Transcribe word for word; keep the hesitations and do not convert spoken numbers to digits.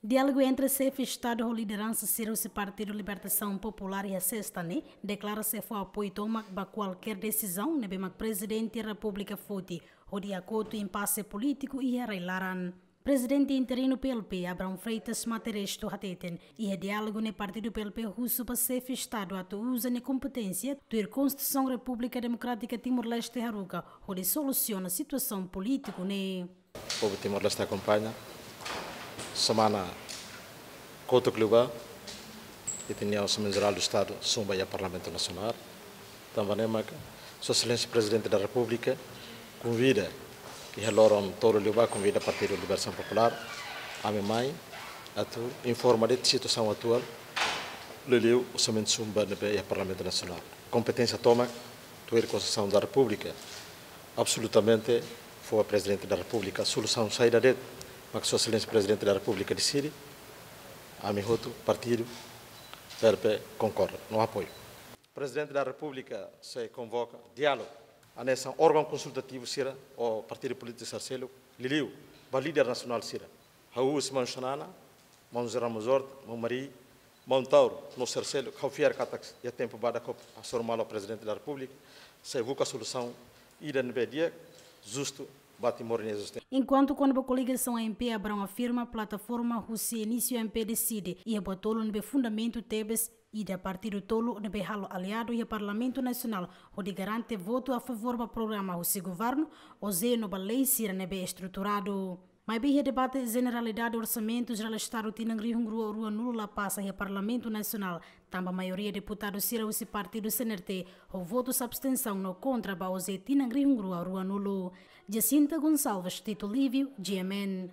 Diálogu entre xefe Estadu ho lideransa sira husi Partidu Libertasaun Populár iha sesta ne'e deklara sei fó apoiu tomak ba kualkér desizaun ne'ebé mak Prezidente Repúblika foti hodi hakotu impase polítiku iha rai-laran. Prezidente interinu P L P, Abrão Freitas Materestu, hateten iha diálogu ne'e partidu P L P husu ba xefe Estadu atu uza nia kompeténsia tuir Konstituisaun Repúblika Demokrátika Timor-Leste haruka hodi solusiona situasaun polítiku ne'e. Povu Timor-Leste akompaña. Semana kotuk liubá, ita-nia Orsamentu Jerál do Estadu sun ba iha Parlamentu Nasionál. Tanba ne'e maka Sua Exelénsia Prezidente da Repúblika konvida, iha loron tolu liubá, konvida Partidu Libertasaun Populár, ami mai atu informa de'it situasaun atuál, liuliu orsamentu sun ba ne'ebé iha Parlamentu Nasionál. Kompeténsia tomak, tuir Konstituisaun da Repúblika, absolutamente fó ba Prezidente da Repúblika. Solusaun saida de'it mak Sua Exelénsia Prezidente da Repúblika deside, ami hotu partidu P L P konkorda no apoiu. Prezidente da Repúblika sei konvoka diálogu, hanesan órgaun konsultativu sira ou partidu polítiku sira seluk, liuliu ba líder nasionál sira. Ha'u husi maun Xanana, maun José Ramos Horta, maun Mari, maun Taur, no sira seluk, ha'u fiar katak iha tempu badak hasoru malu Prezidente da Repúblika, sei buka solusaun ida ne'ebé di'ak, justu, ba Timor nia ezisténsia. Enkuantu kona-ba koligasaun A M P, Abrão afirma plataforma husi inísiu A M P deside iha buat tolu ne'ebé fundamentu tebes, ida partidu tolu ne'ebé halo aliadu iha Parlamentu Nasionál hodi garante votu a favór ba programa husi governu, OJE no ba lei sira ne'ebé estruturadu. Maibé iha debate jeneralidade Orsamentu Jerál Estadu tinan rihun rua ruanulu la pasa iha Parlamentu Nasionál, tanba maioria deputadu sira husi partidu C N R T ho votus abstensaun no kontra ba OJE tinan rihun rua ruanulu. Jacinta Gonçalves, Tito Lívio, G M N.